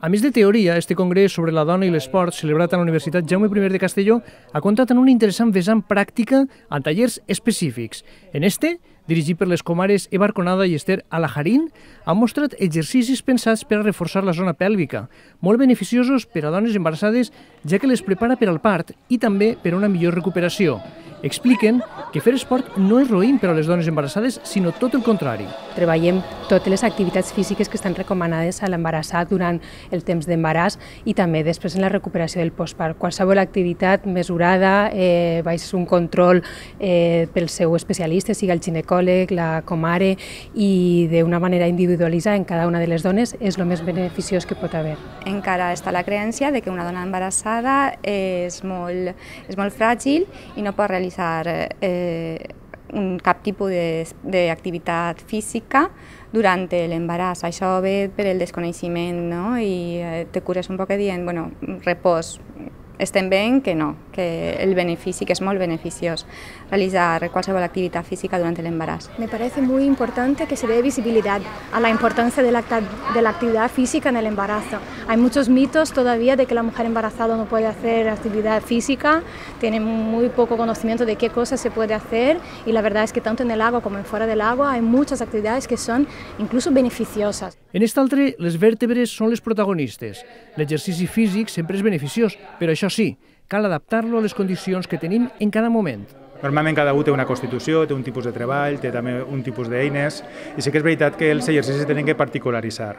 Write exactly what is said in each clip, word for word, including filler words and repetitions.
A més de teoria, este congrés sobre la dona i l'esport, celebrat a la Universitat Jaume I de Castelló, ha comptat amb una interessant vessant pràctica amb tallers específics. En este, dirigit per les comares Eva Arconada i Esther Alajarín, han mostrat exercicis pensats per a reforçar la zona pèlvica, molt beneficiosos per a dones embarassades, ja que les prepara per al part i també per a una millor recuperació. Expliquen que fer esport no és roïn per a les dones embarassades, sinó tot el contrari. Treballem totes les activitats físiques que estan recomanades a l'embarassat durant el temps d'embaràs i també després en la recuperació del postpart. Qualsevol activitat mesurada, eh, va ser un control eh, pel seu especialista, sigui el ginecòleg, la comare, i d'una manera individualitzada en cada una de les dones és el més beneficiós que pot haver. Encara està la creença de que una dona embarassada és molt, és molt fràgil i no pot realitzar eh, un, cap tipus d'activitat física durant l'embaràs. Això ve per el desconeixement, no? I eh, te cures un poc dient, bueno, repòs. Estem veient que no, que el benefici, que es molt beneficiós realizar qualsevol actividad física durante el embarazo. Me parece muy importante que se dé visibilidad a la importancia de la, de la actividad física en el embarazo. Hay muchos mitos todavía de que la mujer embarazada no puede hacer actividad física, tiene muy poco conocimiento de qué cosas se puede hacer y la verdad es que tanto en el agua como en fuera del agua hay muchas actividades que son incluso beneficiosas. En este altre, les vèrtebres són les protagonistes. L'exercici físic sempre és beneficiós, però això sí, cal adaptar-lo a les condicions que tenim en cada moment. Normalment cada un té una constitució, té un tipus de treball, té també un tipus d'eines i sí que és veritat que els exercicis tenen que particularitzar.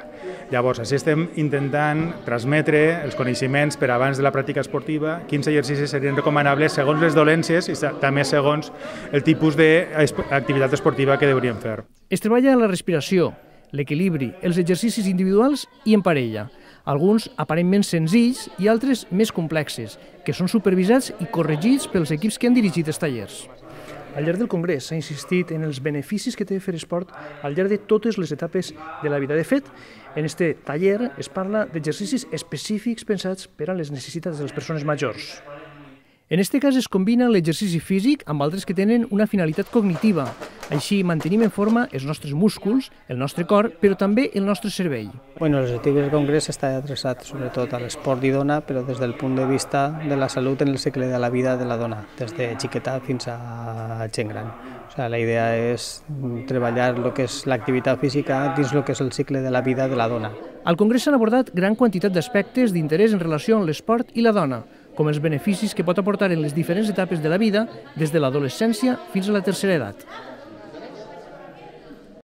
Llavors, així estem intentant transmetre els coneixements per abans de la pràctica esportiva, quins exercicis serien recomanables segons les dolències i també segons el tipus d'activitat esportiva que hauríem fer. Es treballa la respiració, l'equilibri, els exercicis individuals i en parella. Alguns aparentment senzills i altres més complexes, que són supervisats i corregits pels equips que han dirigit els tallers. Al llarg del congrés s'ha insistit en els beneficis que té fer esport al llarg de totes les etapes de la vida. De fet, en este taller es parla d'exercicis específics pensats per a les necessitats de les persones majors. En aquest cas es combina l'exercici físic amb altres que tenen una finalitat cognitiva. Així mantenim en forma els nostres músculs, el nostre cor, però també el nostre cervell. Bueno, l'objectiu del congrés està adreçat sobretot a l'esport i dona, però des del punt de vista de la salut en el cicle de la vida de la dona, des de xiqueta fins a gent gran. O sigui, la idea és treballar el que és l'activitat física dins el que és el cicle de la vida de la dona. Al congrés s'han abordat gran quantitat d'aspectes d'interès en relació amb l'esport i la dona, com els beneficis que pot aportar en les diferents etapes de la vida, des de l'adolescència fins a la tercera edat.